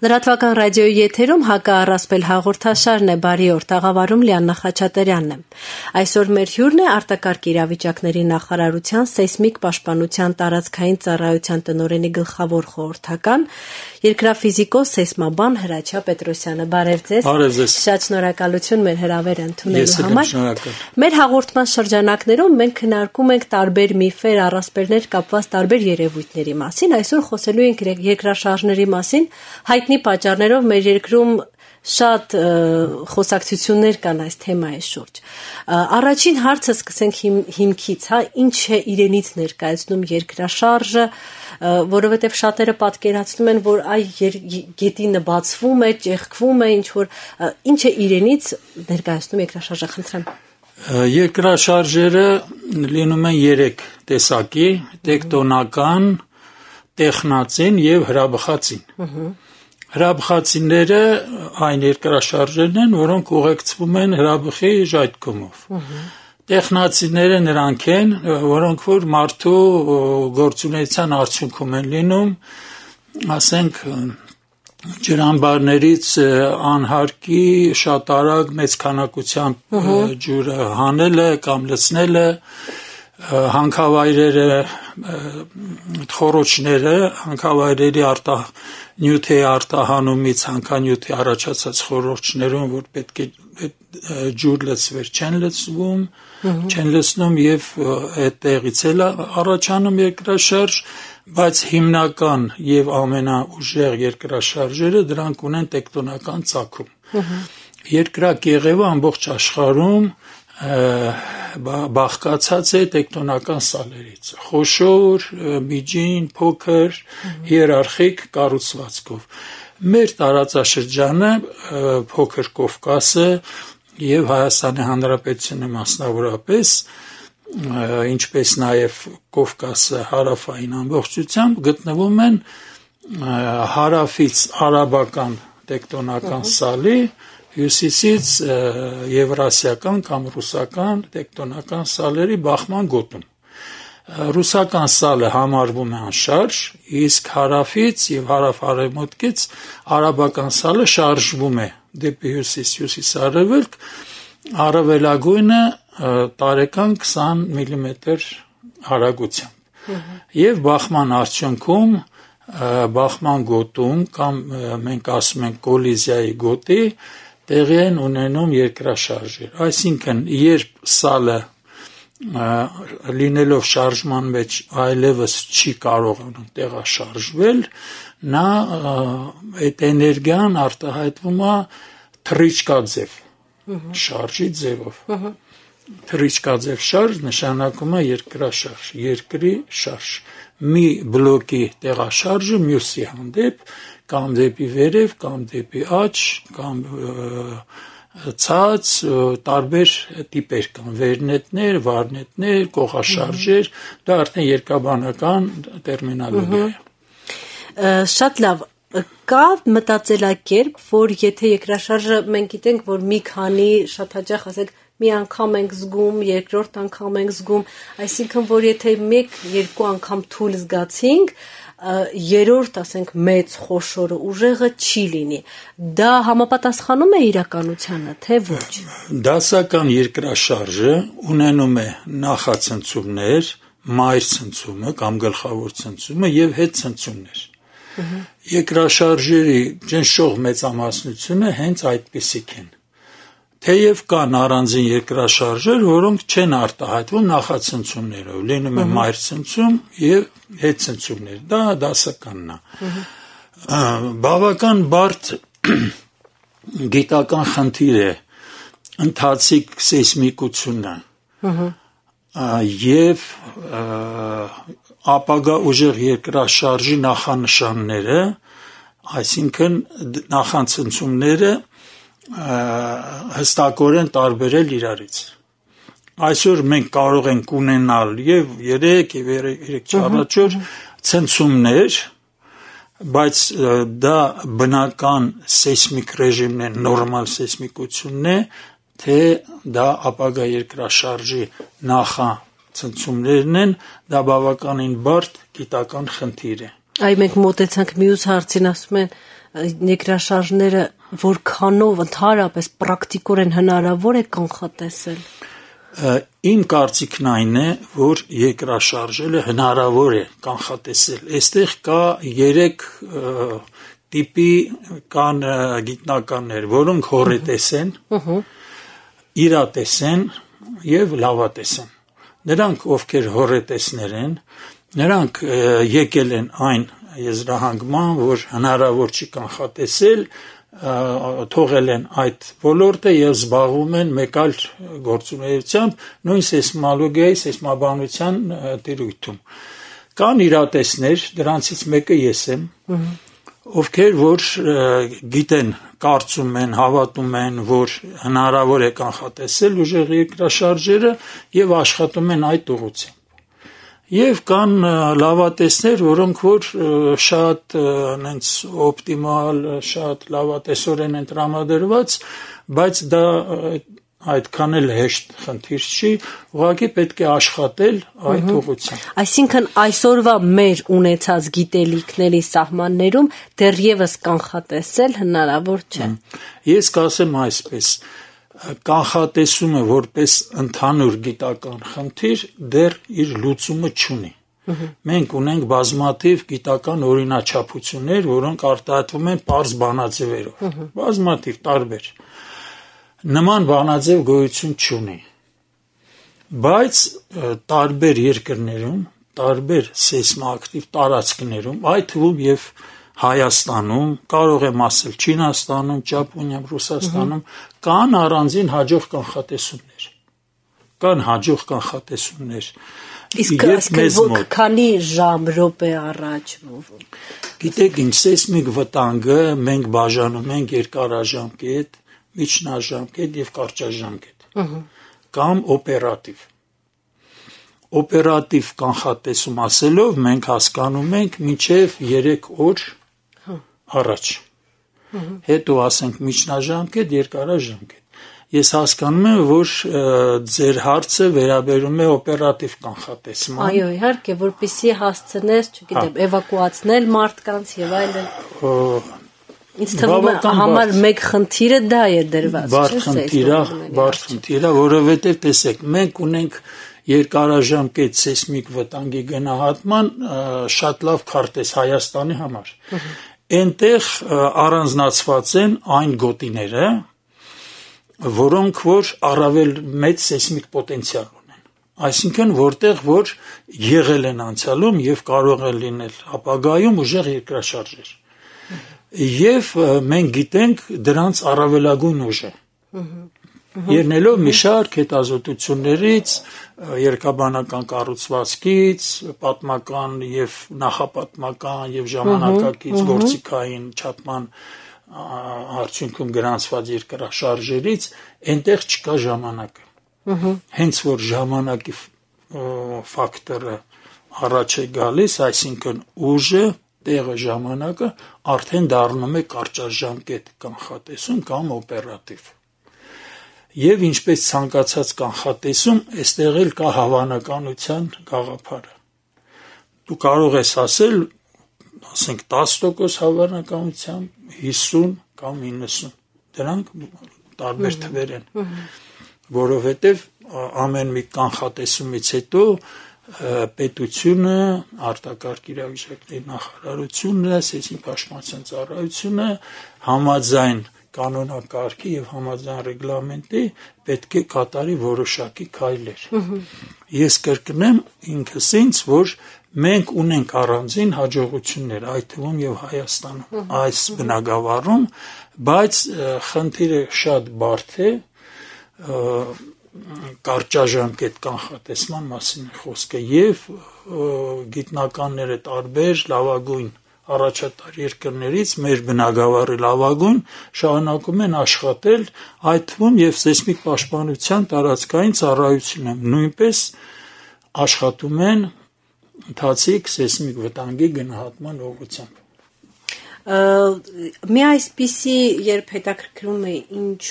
Լրատվական ռադիոյի եթերում հակառասպել հաղորդաշարն է, բարի օր, տաղավարում Լիաննա Խաչատրյանն է։ Այսօր մեր հյուրն է արտակարգ իրավիճակների նախարարության սեյսմիկ պաշտպանության տարածքային ծառայության տնօրենի գլխավոր խորհրդական, երկրաֆիզիկոս սեյսմաբան Հրաչյա Պետրոսյանը։ Բարև ձեզ։ Բարև ձեզ։ Շատ շնորհակալություն մեր հրավերը ընդունելու համար։ Շնորհակալ։ Մեր հաղորդման շրջանակներում մենք քննարկում ենք տարբեր միֆեր, առասպելներ կապված տարբեր երևույթների մասին։ Այսօր խոսելու ենք երկրաշարժների մասին։ Հայտնի պատճառներով մեր երկրում շատ խոսակցություններ կան այս թեմայի շուրջ։ Առաջին հարցը սկսենք հիմքից, ինչ է իրենից ներկայացնում երկրաշարժը, որովհետև շատերը պատկերացնում են, որ գետինը բացվում է, ճեղքվում է, ինչ է իրենից ներկայացնում երկրաշարժը, խնդրեմ։ Երկրաշարժերը լինում են 3 տեսակի՝ տեկտոնական, տեխնածին եւ հրաբխածին։ Հրաբխածինները այն երկրաշարժերն են, որոնք ուղեկցվում են հրաբխի ժայթքումով։ Տեխնածինները նրանք են, որոնք որ մարդու գործունեության արդյունքում են լինում, ասենք ջրամբարներից անհարկի շատ արագ մեծ քանակությամբ ջուրը հանելը կամ լցնելը, հանքավայրերը, խոռոչները, հանքավայրերի նյութի արտահանումից հանքանյութի առաջացած խոռոչներում, որ պետք է ջուր լցվեր, չեն լցնում եւ այդտեղից էլ առաջանում երկրաշարժ, բայց հիմնական եւ ամենաուժեղ երկրաշարժերը դրանք ունեն տեկտոնական ծագում։ Երկրակեղևը ամբողջ աշխարհում բաղկացած է տեկտոնական սալերից, խոշոր, միջին, փոքր, հիերարխիկ կառուցվածքով։ Մեր տարածաշրջանը, փոքր Կովկասը եւ Հայաստանի Հանրապետությունը մասնավորապես, ինչպես նաեւ Կովկասը հարավային ամբողջությամբ գտնվում են հարավից արաբական տեկտոնական սալի, հյուսիսից եվրասիական կամ ռուսական տեկտոնական սալերի բախման գոտում։ Ռուսական սալը համարվում է անշարժ, իսկ հարավից եւ հարավ-արևմուտքից արաբական սալը շարժվում է դեպի հյուսիս-արևելք, առավելագույնը տարեկան 20 մմ արագությամբ։ Եվ բախման արդյունքում, բախման գոտում կամ մենք ասում ենք կոլիզիայի գոտի, տեղի են ունենում երկրաշարժեր, այսինքն երբ սալը լինելով շարժման մեջ այլևս չի կարողանում տեղաշարժվել, նա այդ էներգիան արտահայտվում է թռիչքաձև, շարժի ձևով։ Թռիչքաձև շարժ նշանակում է երկրաշարժ, երկրի շարժ, մի բլոկի տեղաշարժը մյուսի հանդեպ, կամ դեպի վերև, կամ դեպի աջ, կամ ցած, տարբեր տիպեր կան, վերնետներ, վարնետներ, կողաշարժեր, դա արդեն երկաբանական տերմինոլոգիա է։ Շատ լավ, կա մտածելակերպ, որ եթե երկրաշարժը մենք գիտենք, որ մի քանի շատ հաճախ ասենք մի անգամ ենք զգում, երկրորդ անգամ ենք զգում, այսինքն որ եթե 1-2 անգամ թույլ զգացինք, երրորդ, ասենք, մեծ խոշորը ուժեղը չի լինի։ Դա համապատասխանում է իրականությանը, թե ոչ։ Դասական երկրաշարժը ունենում է նախացնցումներ, մայր ցնցումը կամ գլխավոր ցնցումը եւ հետցնցումներ։ Երկրաշարժերի ճնշող մեծամասնությունը հենց այդպիսիք են։ Թեև կան առանձին երկրաշարժեր, որոնք չեն արտահայտվում նախացնցումներով, լինում է մայր ցնցում եւ հետցնցումներ, դա դասականն է։ Բավական բարդ գիտական խնդիր է ընթացիկ սեյսմիկությունը եւ ապագա ուժեղ երկրաշարժի նախանշանները, այսինքն նախացնցումները հստակորեն տարբերել իրարից։ Այսօր մենք կարող ենք ունենալ եւ 3 եւ 3-4 ցնցումներ, բայց դա բնական սեյսմիկ ռեժիմն է, նորմալ սեյսմիկությունն է, թե դա ապագա երկրաշարժի նախացնցումներն են, դա բավականին բարդ գիտական խնդիր է։ Այ մենք մոտեցանք մյուս հարցին, ասում են երկրաշարժները որքանով ընդհանրապես պրակտիկորեն հնարավոր է կանխատեսել։ Իմ կարծիքն այն է, որ երկրաշարժերը հնարավոր է կանխատեսել։ Այստեղ կա 3 տիպի կան գիտնականներ, որոնք հոռետես են, իրատես են եւ լավատես են։ Նրանք, ովքեր հոռետեսներ են, նրանք եկել են այն եզրահանգման, որ հնարավոր չի կանխատեսել, թողել են այդ ոլորտը եւ զբաղվում են մեկ այլ գործունեությամբ, նույն սեյսմոլոգիայի, սեյսմաբանության տիրույթում։ Կան իրատեսներ, դրանցից մեկը ես եմ, ովքեր որ գիտեն, կարծում են, հավատում են, որ հնարավոր է կանխատեսել ուժեղ երկրաշարժերը եւ աշխատում են այդ ուղղությամբ։ Եվ կան լավատեսներ, որոնք որ շատ նենց օպտիմալ, շատ լավատեսորեն են տրամադրված, բայց դա այդքան էլ հեշտ խնդիր չի, ուղղակի պետք է աշխատել այդ ուղղությամբ։ Այսինքն այսօրվա մեր ունեցած գիտելիքների սահմաններում դեռևս կանխատեսել հնարավոր չէ։ Ես կասեմ այսպես, կանխատեսումը որպես ընդհանուր գիտական խնդիր դեռ իր լուծումը չունի։ Մենք ունենք բազմաթիվ գիտական օրինաչափություններ, որոնք արտահայտվում են պարզ բանաձևերով, բազմաթիվ տարբեր։ Նման բանաձև գոյություն չունի, բայց տարբեր երկրներում, տարբեր սեյսմոակտիվ տարածքներում, այդ թվում եւ Հայաստանում, կարող եմ ասել Չինաստանում, Ճապոնիայում, Ռուսաստանում կան առանձին հաջող կանխատեսումներ։ Կան հաջող կանխատեսումներ։ Իսկ քանի ժամ, րոպե առաջ։ Գիտեք ինչ, սեյսմիկ վտանգը մենք բաժանում ենք երկարաժամկետ, միջնաժամկետ եւ կարճաժամկետ կամ օպերատիվ։ Օպերատիվ կանխատեսում ասելով մենք հասկանում ենք մինչև 3 օր առաջ։ Հետո ասենք միջնաժամկետ, երկարաժամկետ։ Ես հասկանում եմ, որ ձեր հարցը վերաբերում է օպերատիվ կանխատեսման։ Այո, իհարկե, որպեսզի հասցնես, չգիտեմ, էվակուացնել մարդկանց եւ այլն։ Ինձ թվում է համար մեկ խնդիրը դա է դրված, բարդ խնդիր է, որովհետև տեսեք, մենք ունենք երկարաժամկետ սեյսմիկ վտանգի գնահատման շատ լավ քարտեզ Հայաստանի համար։ Այնտեղ առանձնացված են այն գոտիները, որոնք որ առավել մեծ սեյսմիկ պոտենցիալ ունեն։ Այսինքն որտեղ որ եղել են անցյալում եւ կարող է լինել ապագայում ուժեղ երկրաշարժեր։ Եվ մենք գիտենք դրանց առավելագույն ուժը։ Ելնելով մի շարք հետազոտություններից, երկաբանական կառուցվածքից, պատմական եւ նախապատմական եւ ժամանակակից գործիքային չափման արդյունքում գրանցված երկրաշարժերից այնտեղ չկա ժամանակը։ Հենց որ ժամանակի ֆակտորը առաջ է գալիս, այսինքն ուժը, տեղը, ժամանակը արդեն դառնում է կարճաժամկետ կանխատեսում կամ օպերատիվ։ Եվ ինչպես ցանկացած կանխատեսում, այստեղ էլ կա հավանականության գաղափարը։ Դու կարող ես ասել, ասենք 10% հավանականությամբ, 50 կամ 90։ Դրանք տարբեր թվեր են, որովհետև ամեն մի կանխատեսումից հետո պետությունը, արտակարգ իրավիճակների նախարարությունը, սեյսմիկ պաշտպանության ծառայությունը համաձայն կանոնակարգի եւ համաձայն ռեգլամենտի պետք է կատարի որոշակի քայլեր։ Ես կրկնեմ ինքս ինձ, որ մենք ունենք առանձին հաջողություններ, այդ թվում եւ Հայաստանում այս բնագավառում, բայց խնդիրը շատ բարդ է, կարճաժամկետ կանխատեսման մասին է խոսքը եւ գիտնականները տարբեր լավագույն առաջատար երկրներից մեր բնագավառի լավագույն շարունակում են աշխատել, այդ թվում եւ սեյսմիկ պաշտպանության տարածքային ծառայությունը նույնպես աշխատում են ընթացիկ սեյսմիկ վտանգի գնահատման ուղղությամբ։ Մի այսպիսի երբ հետաքրքրում է ինչ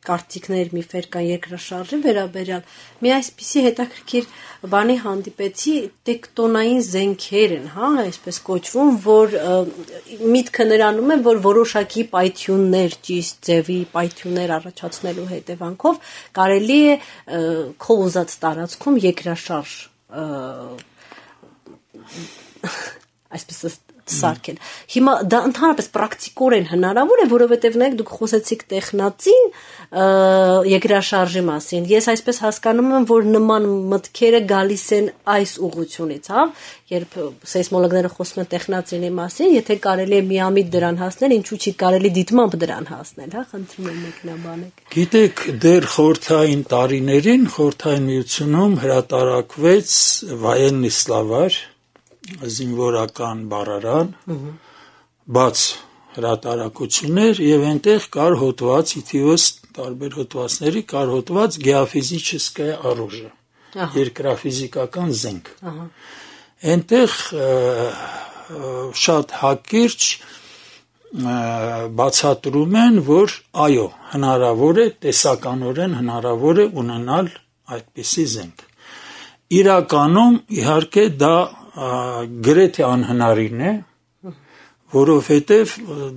կարծիքներ, միֆեր կան երկրաշարժի վերաբերյալ։ Մի այսպիսի հետաքրքիր բանի հանդիպեցի, տեկտոնային զենքեր են, հա, այսպես կոչվում, որ միտքը նրանում է, որ որոշակի պայթյուններ, ճիշտ ձևի պայթյուններ առաջացնելու հետևանքով կարելի է քո ուզած տարածքում երկրաշարժ այսպես սարքել։ Հիմա դա ընդհանրապես պրակտիկորեն հնարավոր է, որովհետև նայեք դուք խոսեցիք տեխնացին երկրաշարժի մասին։ Ես այսպես հասկանում եմ, որ նման մտքերը գալիս են այս ուղղությունից, հա, երբ սեյսմոլոգները խոսում են տեխնացինի մասին, եթե կարելի է միամիտ դրան հասնել, ինչու՞ չի կարելի դիտմամբ դրան հասնել, հա, խնդրում եմ մեկնաբանեք։ Գիտեք, դեռ խորհրդային տարիներին Խորհրդային Միությունում հրատարակվեց Военный словарь, զինվորական բառարան, բաց հրատարակություններ եւ այնտեղ կար հոդված, իթիվս տարբեր հոդվածների կար հոդված գեոֆիզическое оружие, երկրաֆիզիկական զենք։ Այնտեղ շատ հակիրճ բացատրում են, որ այո, հնարավոր է, տեսականորեն հնարավոր է ունենալ այդպիսի զենք։ Իրականում իհարկե դա գրեթե անհնարին է, որովհետև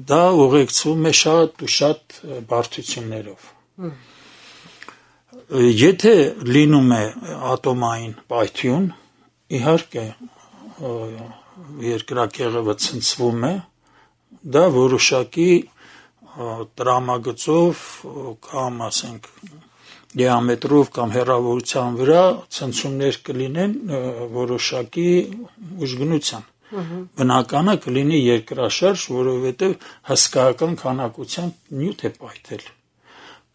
դա ուղեկցվում է շատ ու շատ բարդություններով։ Եթե լինում է ատոմային պայթյուն, իհարկե երկրակեղևը ցնցվում է, դա որոշակի տրամագծով կամ ասենք դիամետրով կամ հեռավորության վրա ցնցումներ կլինեն որոշակի ուժգնության։ Բնականը կլինի երկրաշարժ, որովհետև հսկայական քանակությամբ նյութ է պայթել։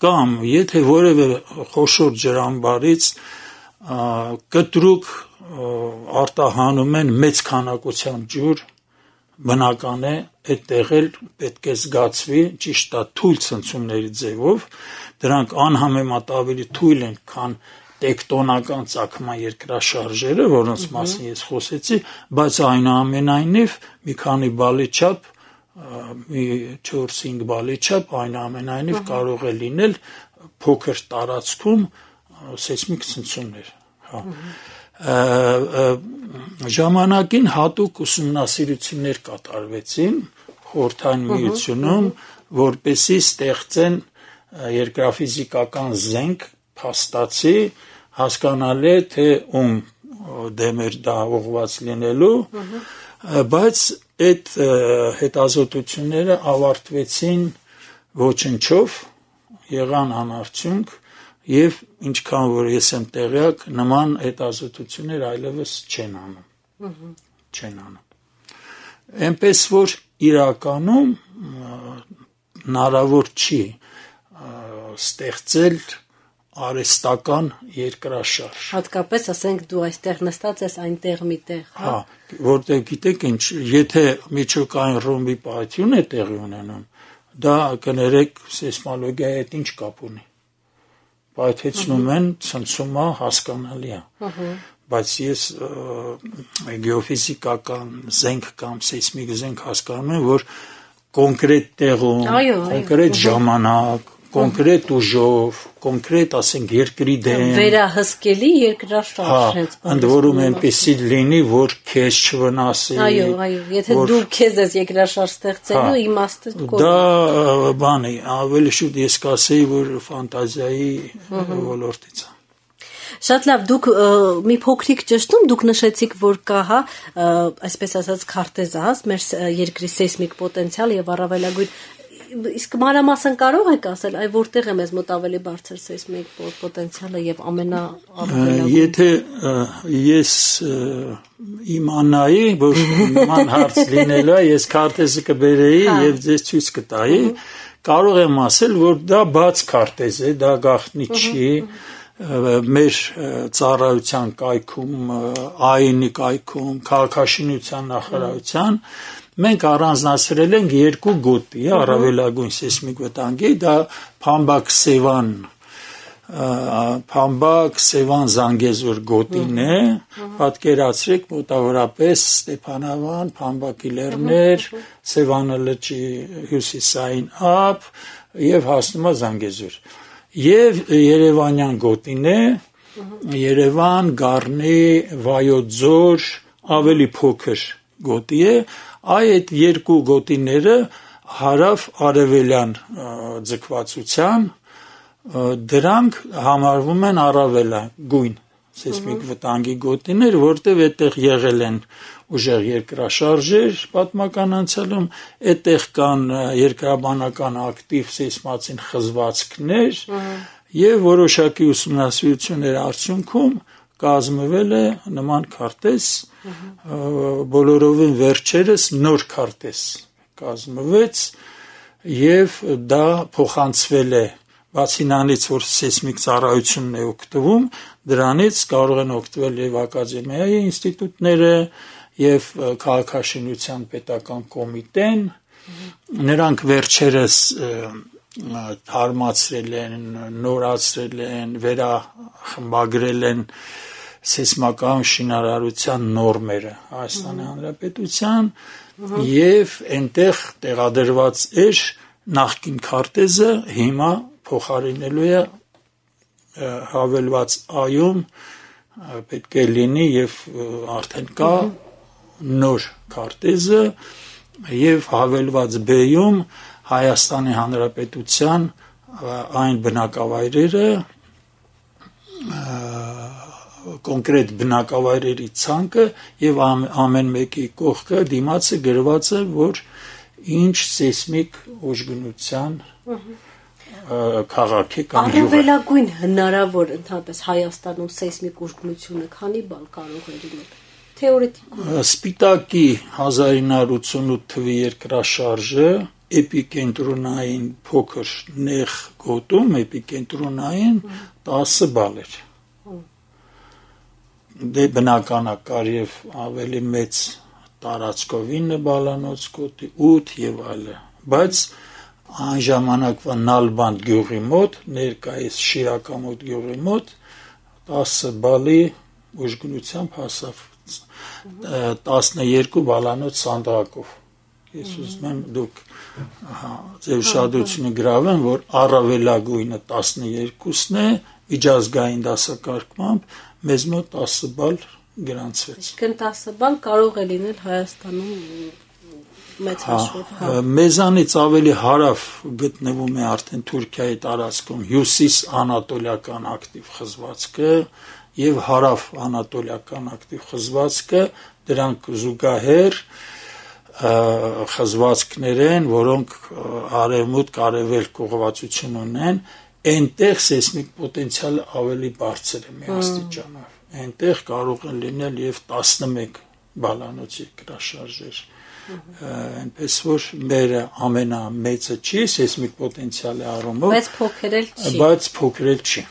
Կամ եթե որևէ խոշոր ջրամբարից կտրուկ արտահանում են մեծ քանակությամբ ջուր, բնական է այդտեղ էլ պետք է զգացվի ճիշտ է թույլ ցնցումների ձևով, դրանք անհամեմատ ավելի թույլ են, քան տեկտոնական ծագման երկրաշարժերը, որոնց մասին ես խոսեցի, բայց այնուամենայնիվ մի քանի բալի չափ, մի 4-5 բալի չափ այնուամենայնիվ կարող է լինել փոքր տարածքում սեյսմիկ ցնցումներ, հա։ Ժամանակին հատուկ ուսումնասիրություններ կատարվեցին Խորհրդային Միությունում, որպեսզի ստեղծեն երկրաֆիզիկական զենք փաստացի, հասկանալ է, թե ում դեմ էր դա ուղղված լինելու, բայց այդ հետազոտությունները ավարտվեցին ոչնչով, եղան անարդյունք եւ ինչքան որ ես եմ տեղյակ, նման հետազոտություններ այլևս չեն անում։ Այնպես որ իրականում հնարավոր չի ստեղծել արհեստական երկրաշարժ։ Հատկապես ասենք դու այստեղ նստած ես այնտեղ միտեղ, հա, որտեղ գիտեք ինչ, եթե միջուկային ռումբի պայթյուն է տեղի ունենում, դա կներեք սեյսմոլոգիայի հետ ինչ կապ ունի։ Պայթեցնում են, ցնցումը հասկանալի է։ Բայց ես գեոֆիզիկական զենք կամ սեյսմիկ զենք հասկանում եմ, որ կոնկրետ տեղում, կոնկրետ ժամանակ, կոնկրետ ուժով, կոնկրետ, ասենք, երկրի դեմ վերահսկելի երկրաշարժ հենց։ Ընդ որում այնպեսի լինի, որ քեզ չվնասի։ Այո, եթե դու քեզ ես երկրաշարժ ստեղծելու իմաստը կողմ։ Դա բան է, ավելի շուտ ես կասեի, որ ֆանտազիայի ոլորտից է։ Շատ լավ, դուք մի փոքրիկ ճշտում, դուք նշեցիք, որ կա, հա, այսպես ասած քարտեզահաս մեր երկրի սեյսմիկ պոտենցիալ եւ առավելագույն իսկ մանրամասն կարող եք ասել, այ որտեղ է մեզ մոտ ավելի բարձր սեյսմիկ պոտենցիալը եւ ամենաառավելագույնը։ Եթե ես իմանայի, որ նման հարց լինելու է, ես քարտեզը կբերեի եւ ձեզ ցույց կտայի, կարող եմ ասել, որ դա բաց քարտեզ է, դա գաղտնի չի։ Մեր ծառայության կայքում, ԱԻՆ-ի կայքում, քաղաքաշինության նախարարության մենք առանձնացրել ենք երկու գոտի, առավելագույն սեյսմիկ վտանգի, դա Փամբակ-Սևան Զանգեզուր գոտին է, պատկերացրեք մոտավորապես Ստեփանավան, Փամբակի լեռներ, Սևանը լճի հյուսիսային ափ եւ հասնում է Զանգեզուր։ եւ Երևանյան գոտին է, Երևան, Գառնի, Վայոց Ձոր, ավելի փոքր գոտի է, այդ երկու գոտիները հարավ-արևելյան ձգվածության, դրանք համարվում են առավելագույն սեյսմիկ վտանգի գոտիներ, որտեղ այդտեղ եղել են ուժեղ երկրաշարժեր պատմական անցյալում, այդտեղ կան երկրաբանական ակտիվ սեյսմացին խզվածքներ եւ որոշակի ուսումնասիրությունների արդյունքում կազմվել է նման քարտեզ, բոլորովին վերջերս նոր քարտեզ կազմվեց եւ դա փոխանցվել է բացի նրանից, որ սեյսմիկ ծառայությունն է օգտվում, դրանից կարող են օգտվել եւ ակադեմիայի ինստիտուտները եւ քաղաքաշինության պետական կոմիտեն, նրանք վերջերս թարմացրել են, նորացրել են, վերախմբագրել են սեյսմական շինարարության նորմերը Հայաստանի Հանրապետության եւ այնտեղ տեղադրված էր նախկին քարտեզը, հիմա փոխարինելու է հավելված այում պետք է լինի եւ արդեն կա նոր քարտեզը եւ հավելված B-ում Հայաստանի Հանրապետության այն բնակավայրերը կոնկրետ բնակավայրերի ցանկը եւ ամեն մեկի կողքը դիմացը գրված է, որ ինչ սեյսմիկ ուժգնության քաղաք է կամ գյուղ է։ Առավելագույն հնարավոր ընդհանրապես Հայաստանում սեյսմիկ ուժգնությունը քանի բալ կարող է լինել թեորետիկորեն։ Սպիտակի 1988 թվականի երկրաշարժը էպիկենտրոնային փոքր նեղ գոտում էպիկենտրոնային 10 բալ էր։ Դե բնականակար եւ ավելի մեծ տարածքով 9 բալանոց գոտի 8 եւ այլն, բայց այն ժամանակվա Նալբանդ գյուղի մոտ, ներկայիս Շիրակամոտ գյուղի մոտ 10 բալի ուժգնությամբ հասավ 12 բալանոց սանդղակով։ Ես ուզում եմ դուք ձեր ուշադրությունը գրավեն, որ առավելագույնը 12-ն է, միջազգային դասակարգմամբ մեզ մոտ 10 բալ գրանցվեց։ Այսինքն 10 բալ կարող է լինել Հայաստանում մեծ հաշվով։ Մեզանից ավելի հարավ գտնվում է արդեն Թուրքիայի տարածքում հյուսիս անատոլիական ակտիվ խզվածքը եւ հարավ անատոլիական ակտիվ խզվածքը, դրանք զուգահեռ խզվածքներ են, որոնք արևմուտք արևելք ուղղվածություն ունեն, այնտեղ սեյսմիկ պոտենցիալը ավելի բարձր է մի աստիճանով։ Այնտեղ կարող են լինել եւ 11 բալանոց երկրաշարժեր։ Այնպես որ մեր ամենամեծը չի սեյսմիկ պոտենցիալի առումով, բայց փոքր էլ չի։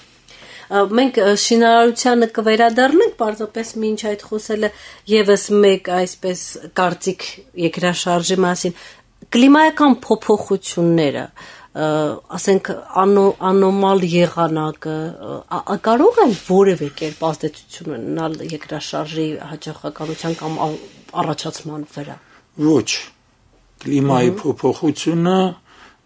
Մենք շինարարությանը կվերադառնանք, պարզապես մինչ այդ խոսելը եւս մեկ այսպես կարծիք երկրաշարժի մասին, կլիմայական փոփոխությունները, ասենք անոմալ եղանակը կարող են որևէ կերպ ազդեցություն ունենալ երկրաշարժի հաճախականության կամ առաջացման վրա։ Ոչ, կլիմայի փոփոխությունը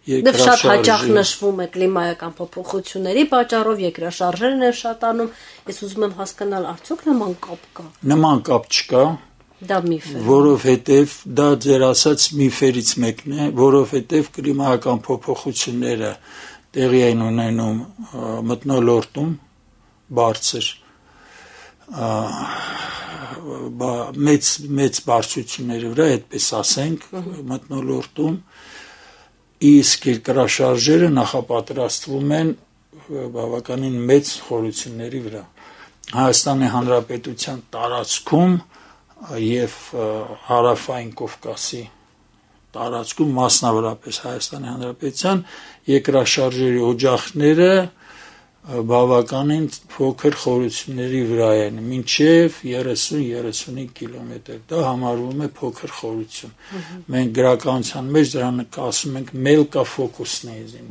երկրաշարժի շատ հաճախ նշվում է կլիմայական փոփոխությունների պատճառով երկրաշարժերն են շատանում։ Ես ուզում եմ հասկանալ, արդյոք նման կապ կա։ Նման կապ չկա։ Դա միֆ է։ Որովհետև դա ձեր ասած միֆերից մեկն է, որովհետև կլիմայական փոփոխությունները տեղի են ունենում մթնոլորտում բարձր մեծ բարձրությունների վրա, այդպես ասենք, մթնոլորտում, իսկ երկրաշարժերը նախապատրաստվում են բավականին մեծ խորությունների վրա։ Հայաստանի Հանրապետության տարածքում եւ հարավային Կովկասի տարածքում, մասնավորապես Հայաստանի Հանրապետության երկրաշարժերի օջախները բավականին փոքր խորությունների վրա են, մինչև 30-35 կիլոմետր, դա համարվում է փոքր խորություն։ Մենք գրականության մեջ դրան ասում ենք մելկա ֆոկուսնեիզին,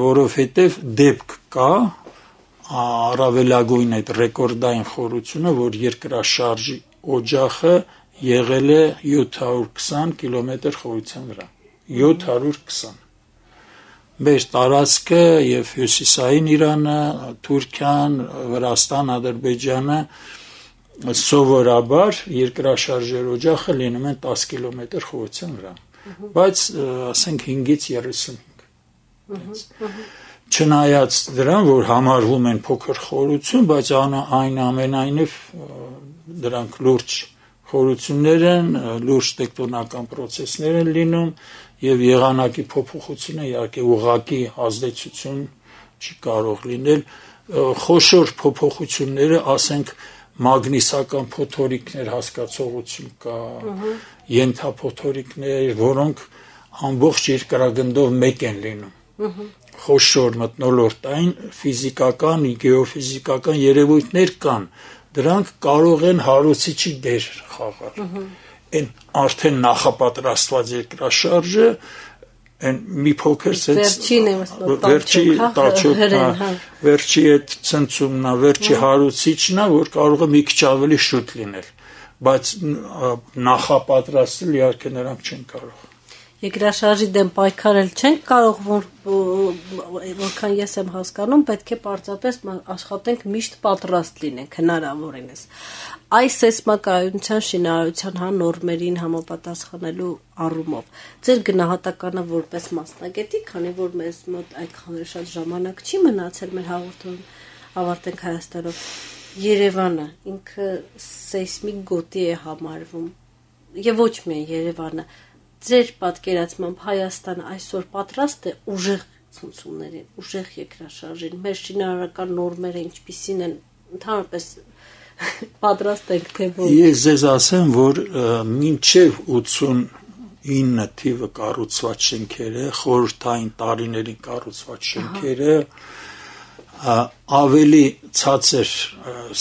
որովհետև դեպք կա առավելագույն այդ ռեկորդային խորությունը, որ երկրաշարժի օջախը եղել է 720 կիլոմետր խորության վրա, 720, մեր տարածքը եւ հյուսիսային Իրանը, Թուրքիան, Վրաստան, Ադրբեջանը սովորաբար երկրաշարժեր օջախը լինում են 10 կիլոմետր խորության վրա, բայց ասենք 5-ից 35։ Չնայած դրան, որ համարվում են փոքր խորություն, բայց այնուամենայնիվ դրանք լուրջ խորություններ են, լուրջ տեկտոնական պրոցեսներ են լինում եւ եղանակի փոփոխությունը իհարկե ուղղակի ազդեցություն չի կարող լինել, խոշոր փոփոխությունները, ասենք մագնիսական փոթորիկներ հասկացողություն կա, ենթափոթորիկներ, որոնք ամբողջ երկրագնդով մեկ են լինում, խոշոր մթնոլորտային ֆիզիկական, գեոֆիզիկական երևույթներ կան, դրանք կարող են հարուցիչի դեր խաղալ, են արդեն նախապատրաստված երկրաշարժը, են մի փոքր վերջի այդ ցնցումն է, վերջի հարուցիչն է, որ կարող է մի քիչ ավելի շուտ լինել, բայց նախապատրաստել իհարկե նրանք չեն կարող։ Երկրաշարժի դեմ պայքարել չենք կարող, որքան ես եմ հասկանում, պետք է պարզապես աշխատենք միշտ պատրաստ լինենք հնարավորինս։ Այս սեյսմակայունության շինարարության նորմերին համապատասխանելու առումով ձեր գնահատականը որպես մասնագետի, քանի որ մեզ մոտ այդքան շատ ժամանակ չի մնացել մեր հաղորդում ավարտենք Հայաստանով, Երևանը ինքը սեյսմիկ գոտի է համարվում եւ ոչ միայն Երևանը, ձեր պատկերացմամբ Հայաստանը այսօր պատրաստ է ուժեղ ցնցումներին, ուժեղ երկրաշարժին, մեր շինարարական նորմերը ինչպիսին են, ընդհանրապես պատրաստ ենք թե ոչ։ Ես ձեզ ասեմ, որ մինչև 89 թիվը կառուցված շենքերը, խորհրդային տարիներին կառուցված շենքերը ավելի ցածր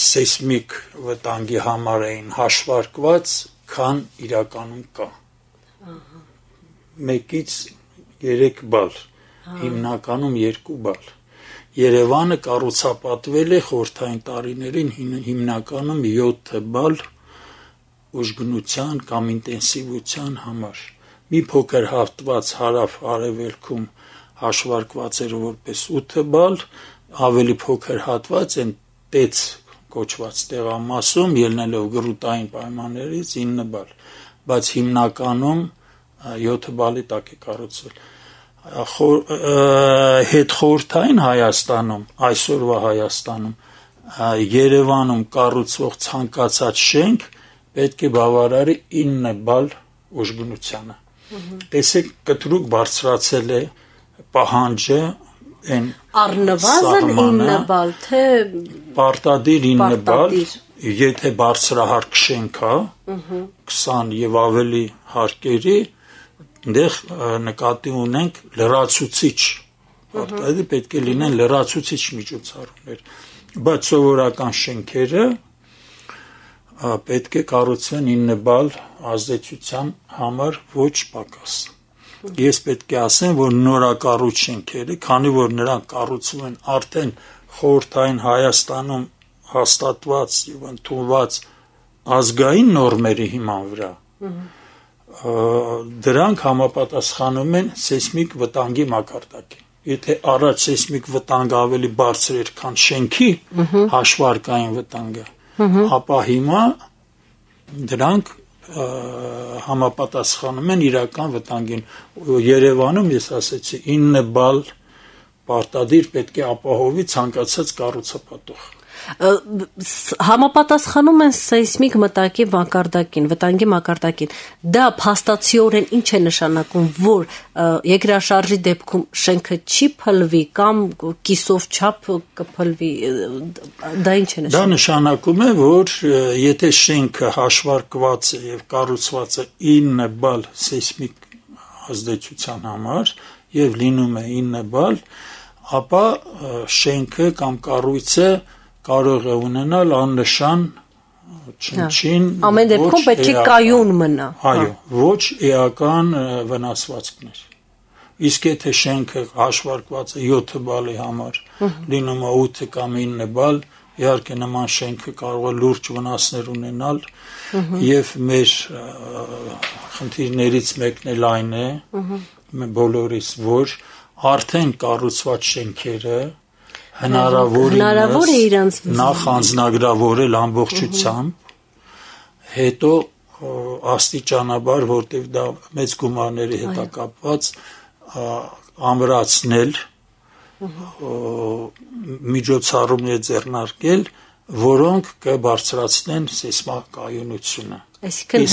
սեյսմիկ վտանգի համար էին հաշվարկված, քան իրականում կա։ 1-ից 3 բալ, հիմնականում 2 բալ։ Երևանը կառուցապատվել է խորհրդային տարիներին հիմնականում 7 բալ ուժգնության կամ ինտենսիվության համար։ Մի փոքր հատված հարավ-արևելքում հաշվարկված էր որպես 8 բալ, ավելի փոքր հատված են տեց կոչված տեղամասում ելնելով գրուտային պայմաններից 9 բալ, բայց հիմնականում 7 բալի տակ է կառուցվել։ Հետխորհրդային Հայաստանում, այսօրվա Հայաստանում, Երևանում կառուցվող ցանկացած շենք պետք է բավարարի 9 բալ ուժգնությանը։ Տեսեք, կտրուկ բարձրացել է պահանջը այն առնվազն 9 բալ, թե պարտադիր 9 բալ, եթե բարձրահարկ շենք է, 20 եւ ավելի հարկերի, այնտեղ նկատի ունենք լրացուցիչ, պարտադիր պետք է լինեն լրացուցիչ միջոցառումներ, բայց սովորական շենքերը պետք է կառուցվեն 9 բալ ազդեցության համար ոչ պակաս։ Ես պետք է ասեմ, որ նորակառույց շենքերը, քանի որ նրանք կառուցվում են արդեն խորհրդային Հայաստանում հաստատված եւ ընդունված ազգային նորմերի հիման վրա, դրանք համապատասխանում են սեյսմիկ վտանգի մակարդակին։ Եթե առաջ սեյսմիկ վտանգը ավելի բարձր էր, քան շենքի հաշվարկային վտանգը, ապա հիմա դրանք համապատասխանում են իրական վտանգին։ Երևանում ես ասեցի 9 բալ պարտադիր պետք է ապահովի ցանկացած կառուցապատող։ Համապատասխանում են սեյսմիկ վտանգի մակարդակին։ Դա փաստացիորեն ինչ է նշանակում, որ երկրաշարժի դեպքում շենքը չի փլվի կամ կիսով չափ կփլվի, դա ինչ է նշանակում։ Դա նշանակում է, որ եթե շենքը հաշվարկված է եւ կառուցված է 9 բալ սեյսմիկ ազդեցության համար եւ լինում է 9 բալ, ապա շենքը կամ կառույցը կարող է ունենալ աննշան չնչին ամեն դեպքում պետք է կայուն մնա։ Այո, ոչ էական վնասվածքներ։ Իսկ եթե շենքը հաշվարկված է 7 բալի համար, լինում է 8 կամ 9 բալ, իհարկե նման շենքը կարող է լուրջ վնասներ ունենալ եւ մեր խնդիրներից մեկն էլ այն է, բոլորիս, որ արդեն կառուցված շենքերը հնարավոր է իրանց նախ անձնագրավորել ամբողջությամբ, հետո աստիճանաբար, որտեղ դա մեծ գումարների հետ է կապված, ամրացնել, միջոցառումներ ձեռնարկել, որոնք կբարձրացնեն սեյսմակայունությունը։ Այսինքն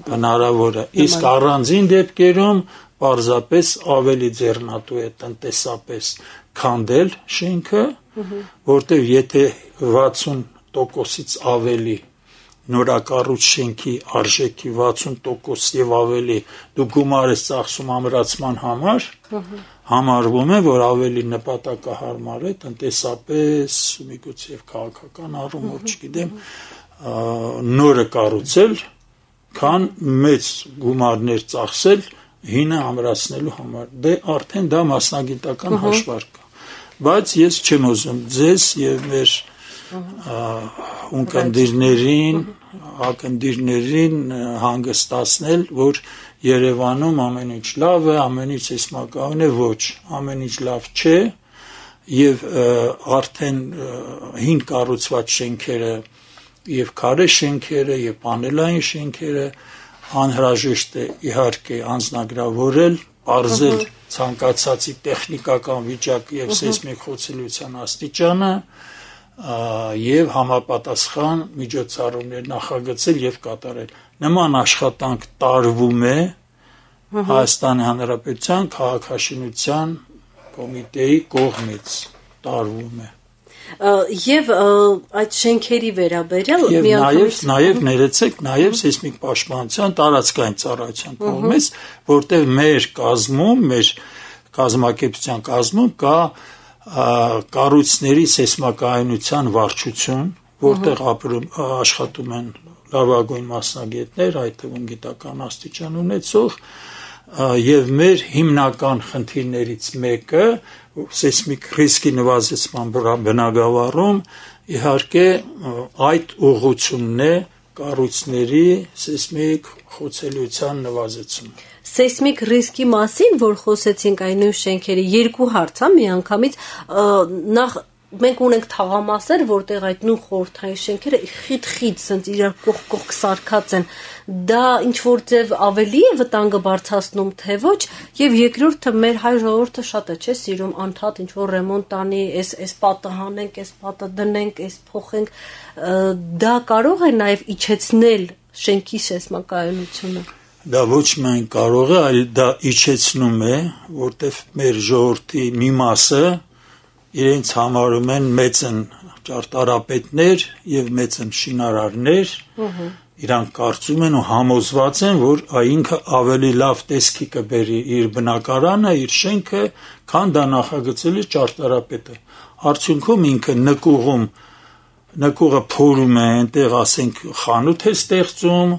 հնարավոր է։ Իսկ առանձին դեպքերում պարզապես ավելի ձեռնատու է տնտեսապես քանդել շենքը, որտեղ եթե 60%-ից ավելի նորակառույց շենքի արժեքի 60% եւ ավելի դու գումար ես ծախսում ամրացման համար, համարվում է, որ ավելի նպատակահարմար է տնտեսապես, միգուցե եւ քաղաքական առումով, չգիտեմ, նորը կառուցել, քան մեծ գումարներ ծախսել հինը ամրացնելու համար։ Դե արդեն դա մասնագիտական հաշվարկ է։ Բայց ես չեմ ուզում ձեզ եւ մեր ակնդիրներին հանգստացնել, որ Երևանում ամեն ինչ լավ է, ամեն ինչ սեյսմակայուն է, ոչ, ամեն ինչ լավ չէ եւ արդեն հին կառուցված շենքերը եւ քարե շենքերը եւ պանելային շենքերը անհրաժեշտ է իհարկե անձնագրավորել, բարձել ցանկացածի տեխնիկական վիճակը եւ սեյսմիկ խոցելիության աստիճանը եւ համապատասխան միջոցառումներ նախագծել եւ կատարել։ Նման աշխատանք տարվում է Հայաստանի Հանրապետության քաղաքաշինության կոմիտեի կողմից տարվում է։ Եվ այդ շենքերի վերաբերյալ նաև ներեցեք նաև սեյսմիկ պաշտպանության տարածքային ծառայության կողմից, որտեղ մեր կազմում, մեր կազմակերպության կազմում կա կառույցների սեյսմակայունության վարչություն, որտեղ աշխատում են լավագույն մասնագետներ, այդ թվում գիտական աստիճան ունեցող, եւ մեր հիմնական խնդիրներից մեկը սեյսմիկ ռիսկի նվազեցման բնագավառում իհարկե այդ ուղղությունն է կառույցների սեյսմիկ խոցելիության նվազեցումը։ Սեյսմիկ ռիսկի մասին, որ խոսեցինք այն նույն շենքերի, երկու հարց է միանգամից, նախ մենք ունենք թաղամասեր, որտեղ այդ նույն խորհրդային շենքերը խիտ սենց իրար կողք սարքած են, դա ինչ որ ձև ավելի է վտանգը բարձրացնում, թե ոչ, եւ երկրորդը մեր հայ ժողովուրդը շատ է, չէ, սիրում անդադ ինչ որ ռեմոնտ անի, այս պատը հանենք, այս պատը դնենք, այս փոխենք, դա կարող է նաեւ իջեցնել շենքի սեյսմակայունությունը։ Դա ոչ միայն կարող է, այլ դա իջեցնում է, որտեղ մեր ժողովրդի մի մասը իրենց համարում են մեծն ճարտարապետներ եւ մեծն շինարարներ, իրանք կարծում են ու համոզված են, որ ինքը ավելի լավ տեսքի կբերի իր բնակարանը, իր շենքը, քան դա նախագծել է ճարտարապետը։ Արդյունքում ինքը նկուղը փորում է, այնտեղ ասենք խանութ է ստեղծում,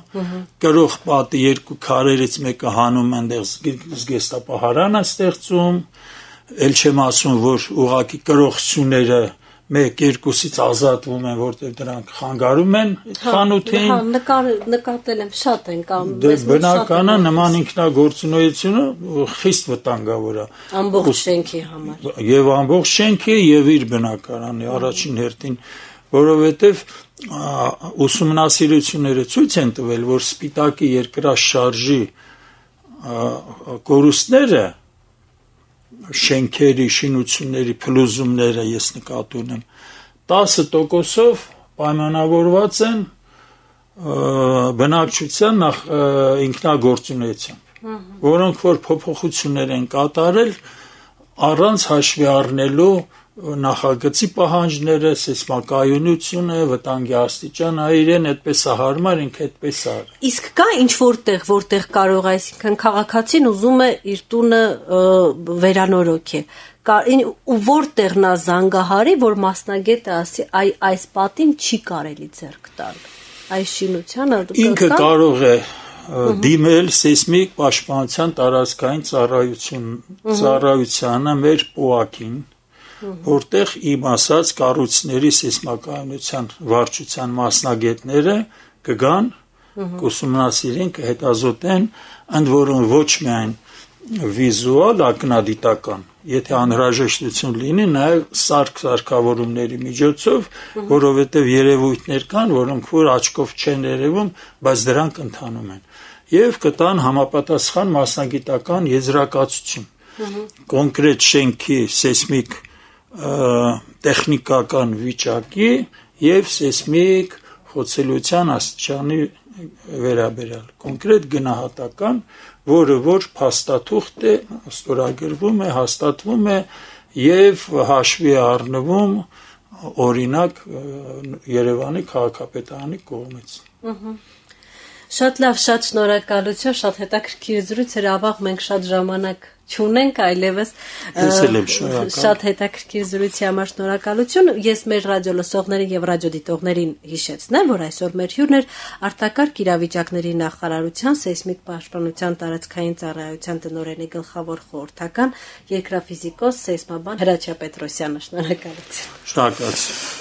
կրող պատի երկու քարերից մեկը հանում այնտեղ զգեստապահարան է ստեղծում, էլ չեմ ասում, որ ուղղակի կրողությունները 1-2-ից ազատվում են, որտեղ դրանք խանգարում են խանութին։ Նկատել եմ, շատ են կամ բնականը նման ինքնագործունեությունը խիստ վտանգավոր է ամբողջ շենքի համար։ Եվ ամբողջ շենքի եւ իր բնակարանի առաջին հերթին, որովհետեւ ուսումնասիրությունները ցույց են տվել, որ սպիտակի երկրաշարժի կորուստները շենքերի, շինությունների փլուզումները ես նկատի ունեմ 10%-ով պայմանավորված են բնակչության ինքնագործունեությամբ, որոնք որ փոփոխություններ են կատարել առանց հաշվի առնելու նախագծի պահանջները, սեյսմակայունությունը, վտանգի աստիճանը, իրեն այդպես է հարմար, ինքը այդպես է։ Իսկ կա ինչ որտեղ կարող է, այսինքն քաղաքացին ուզում է իր տունը վերանորոգել, ու որտեղ նա զանգահարի, որ մասնագետը ասի, այս պատին չի կարելի ձեռք տալ, այս շինությանը ինքը կարող է դիմել սեյսմիկ պաշտպանության տարածքային ծառայությանը մեր ՊՕԱԿ-ին, որտեղ իմ ասած կառույցների սեյսմակայունության վարչության մասնագետները կգան, կուսումնասիրեն, կհետազոտեն, ընդ որում ոչ միայն վիզուալ, ակնադիտական, եթե անհրաժեշտություն լինի, նաև սարքավորումների միջոցով, որովհետև երևույթներ կան, որոնք որ աչքով չեն երևում, բայց դրանք ընթանում են, եւ կտան համապատասխան մասնագիտական եզրակացություն, կոնկրետ շենքի սեյսմիկ տեխնիկական վիճակի եւ սեյսմիկ խոցելիության աստիճանի վերաբերյալ, կոնկրետ գնահատական, որը որ փաստաթուղթ է, ստորագրվում է, հաստատվում է եւ հաշվի առնվում օրինակ Երևանի քաղաքապետարանի կողմից։ Շատ լավ, շատ շնորհակալություն, շատ հետաքրքիր զրույց էր, ավաղ մենք շատ ժամանակ չունենք, այլևս շատ հետաքրքիր զրույցի համար շնորհակալություն։ Ես մեր ռադիո լսողներին եւ ռադիոդիտողներին հիշեցնեմ, որ այսօր մեր հյուրն էր Արտակարգ իրավիճակների նախարարության սեյսմիկ պաշտպանության տարածքային ծառայության տնօրենի գլխավոր խորհրդական երկրաֆիզիկոս սեյսմաբան Հրաչյա Պետրոսյանը։ Շնորհակալություն։ Շնորհակալություն։